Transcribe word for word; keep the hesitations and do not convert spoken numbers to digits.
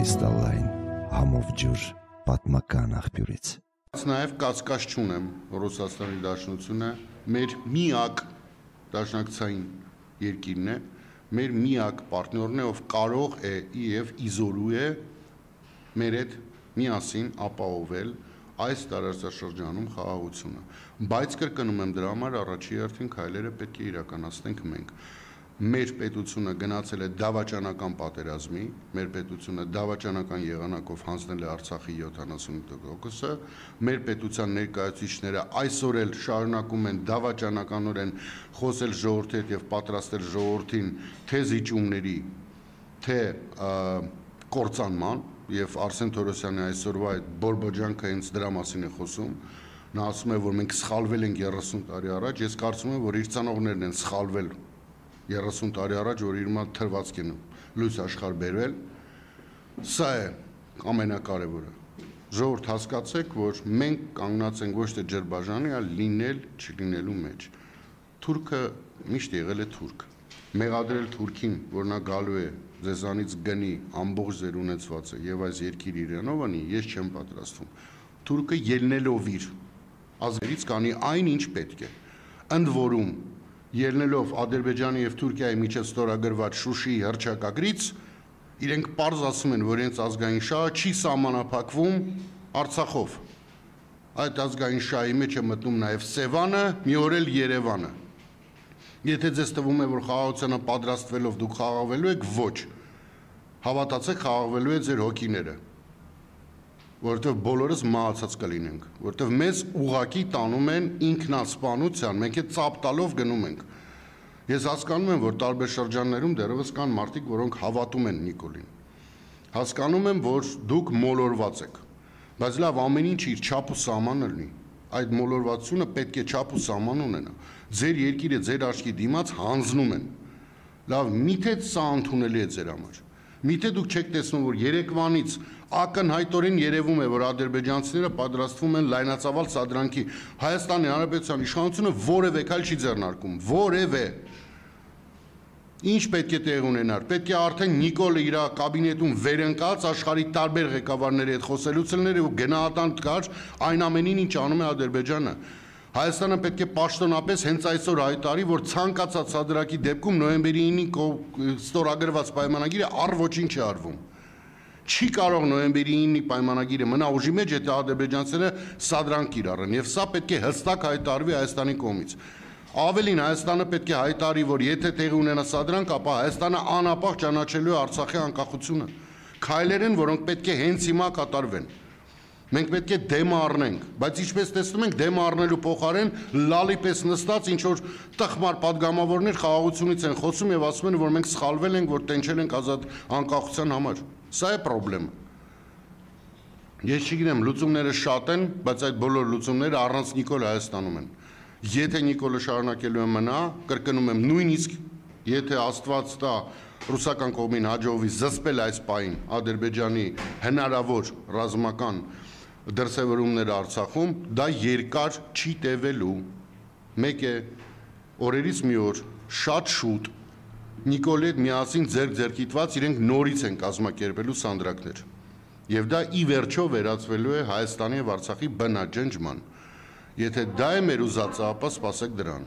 Կրիստալային համով ջուր պատմական աղբյուրից։ Նաև կասկած չունեմ, որ Ռուսաստանի Դաշնությունը մեր միակ դաշնակցային երկիրն է, մեր միակ պարտներն է, ով կարող է եւ իզոլու է մեր հետ միասին ապահովել այս տարածաշրջանում խաղաղությունը։ Բայց կրկնում եմ, դրա համար առաջի հերթին քայլերը պետք է իրականացնենք մենք։ Մեր պետությունը գնացել է դավաճանական պատերազմի, մեր պետությունը դավաճանական եղանակով հանձնել է Արցախի յոթանասունութ տոկոսը, մեր պետության ներկայացուցիչները այսօր էլ շարունակում են դավաճանականորեն խոսել ժողովրդի հետ եւ պատրաստել ժողովրդին թե զիջումների, թե կործանման, եւ Արսեն Թորոսյանի այսօրվա այդ բորբոջանքը հենց դրա մասին է խոսում։ Նա ասում է, որ մենք սխալվել ենք երեսուն տարի առաջ, ես կարծում եմ, որ իր ցանողներն են սխալվել երեսուն տարի առաջ, որ իր մոտ թրվածք են լույս աշխարհ բերվել։ Սա է ամենակարևորը։ Ժողովուրդ, հասկացեք, որ մենք կանգնած ենք ոչ թե ջրբաժանի, այլ լինել չլինելու մեջ։ Թուրքը միշտ եղել է թուրք։ Մեղադրել թուրքին, որ նա գալու է ձեզանից գնի ամբողջ ձեր ունեցվածը եւ այս երկիր իրանով անի, ես չեմ պատրաստվում։ Թուրքը ելնելով իր ազգերից կանի այն, ինչ պետք է։ Ընդ որում ելնելով Ադրբեջանի եւ Թուրքիայի միջև ստորագրված Շուշիի հռչակագրից, իրենք պարզ ասում են, որ իրենց ազգային շահը չի սահմանափակվում Արցախով։ Այդ ազգային շահի մեջ է մտնում նաեւ Սևանը, մի օր էլ Երևանը։ Եթե ձեզ թվում է, որ խաղաղությանը պատրաստվելով դուք խաղաղվելու եք, ոչ։ Հավատացեք, խաղաղվելու է ձեր հոգիները, որովհետև բոլորս մահացած կլինենք, որովհետև մեզ ուղակի տանում են ինքնասպանության, մենք այդ ծափ տալով գնում ենք։ Ես հասկանում եմ, որ տարբեր շրջաններում դեռևս կան մարդիկ, որոնք հավատում են Նիկոլին։ Հասկանում եմ, որ դուք մոլորված եք, բայց լավ, ամեն ինչ իր չափ ու սահմանը լինի։ Այդ մոլորվածությունը պետք է չափ ու սահման ունենա։ Ձեր երկիրը ձեր աչքի դիմաց հանձնում են։ Լավ, միթե սա ընդունելի է ձեր համար։ Միթե դուք չեք տեսնում, որ երեկվանից ակնհայտորեն երևում է, որ ադրբեջանցիները պատրաստվում են լայնածավալ սադրանքի։ Հայաստանի Հանրապետության իշխանությունը որևէ քայլ չի ձեռնարկում, որևէ։ Ինչ պետք է տեղ ունենար։ Պետք է արդեն Նիկոլը իր կաբինետում վերընկած աշխարհի տարբեր ղեկավարների հետ խոսելուց լներ ու գնահատանք տար այն ամենին, ինչ անում է Ադրբեջանը։ Հայաստանը պետք է պաշտոնապես հենց այսօր հայտարարի, որ ցանկացած սադրակի դեպքում նոյեմբերի ինին ստորագրված պայմանագիրը առ ոչինչ է արվում։ Չի կարող նոյեմբերի ինի պայմանագիրը մնա ուժի մեջ, եթե ադրբեջանցիները սադրանք կիրառեն, եւ սա պետք է հստակ հայտարարվի Հայաստանի կողմից։ Ավելին, Հայաստանը պետք է հայտարարի, որ եթե տեղի ունենա սադրանք, ապա Հայաստանը անապահ ճանաչելու է Արցախի անկախությունը։ Քայլեր են, որոնք պետք է հենց հիմա կատարվեն։ Մենք պետք է դեմը առնենք, բայց ինչպես տեսնում ենք, դեմը առնելու փոխարեն լալի պես նստած ինչ որ տխմար падգամավորներ խաղաղությունից են խոսում եւ ասում են, որ մենք սխալվել ենք, որ տենչել ենք ազատ անկախության համար։ Սա է խնդրեմը։ Ես չգիտեմ, լուծումները շատ են, բայց այդ բոլոր լուծումները առանց Նիկոլ Հայաստանում են։ Եթե Նիկոլը շարունակելու է մնա, կրկնում եմ, նույնիսկ եթե Աստված տա ռուսական կողմին հաջողվի զսպել այս պահին Ադրբեջանի հնարավոր ռազմական դրսևորումները Արցախում, դա երկար չի տևելու։ Մեկ է, օրերից մի օր, շատ շուտ Նիկոլի հետ միասին ձեռք-ձեռքիտված իրենք նորից են կազմակերպելու սանդրակներ։ Եվ դա ի վերջո վերածվելու է Հայաստանի եւ Արցախի բնաջնջման։ Եթե դա է մեր ուզածը, ապա սպասեք դրան։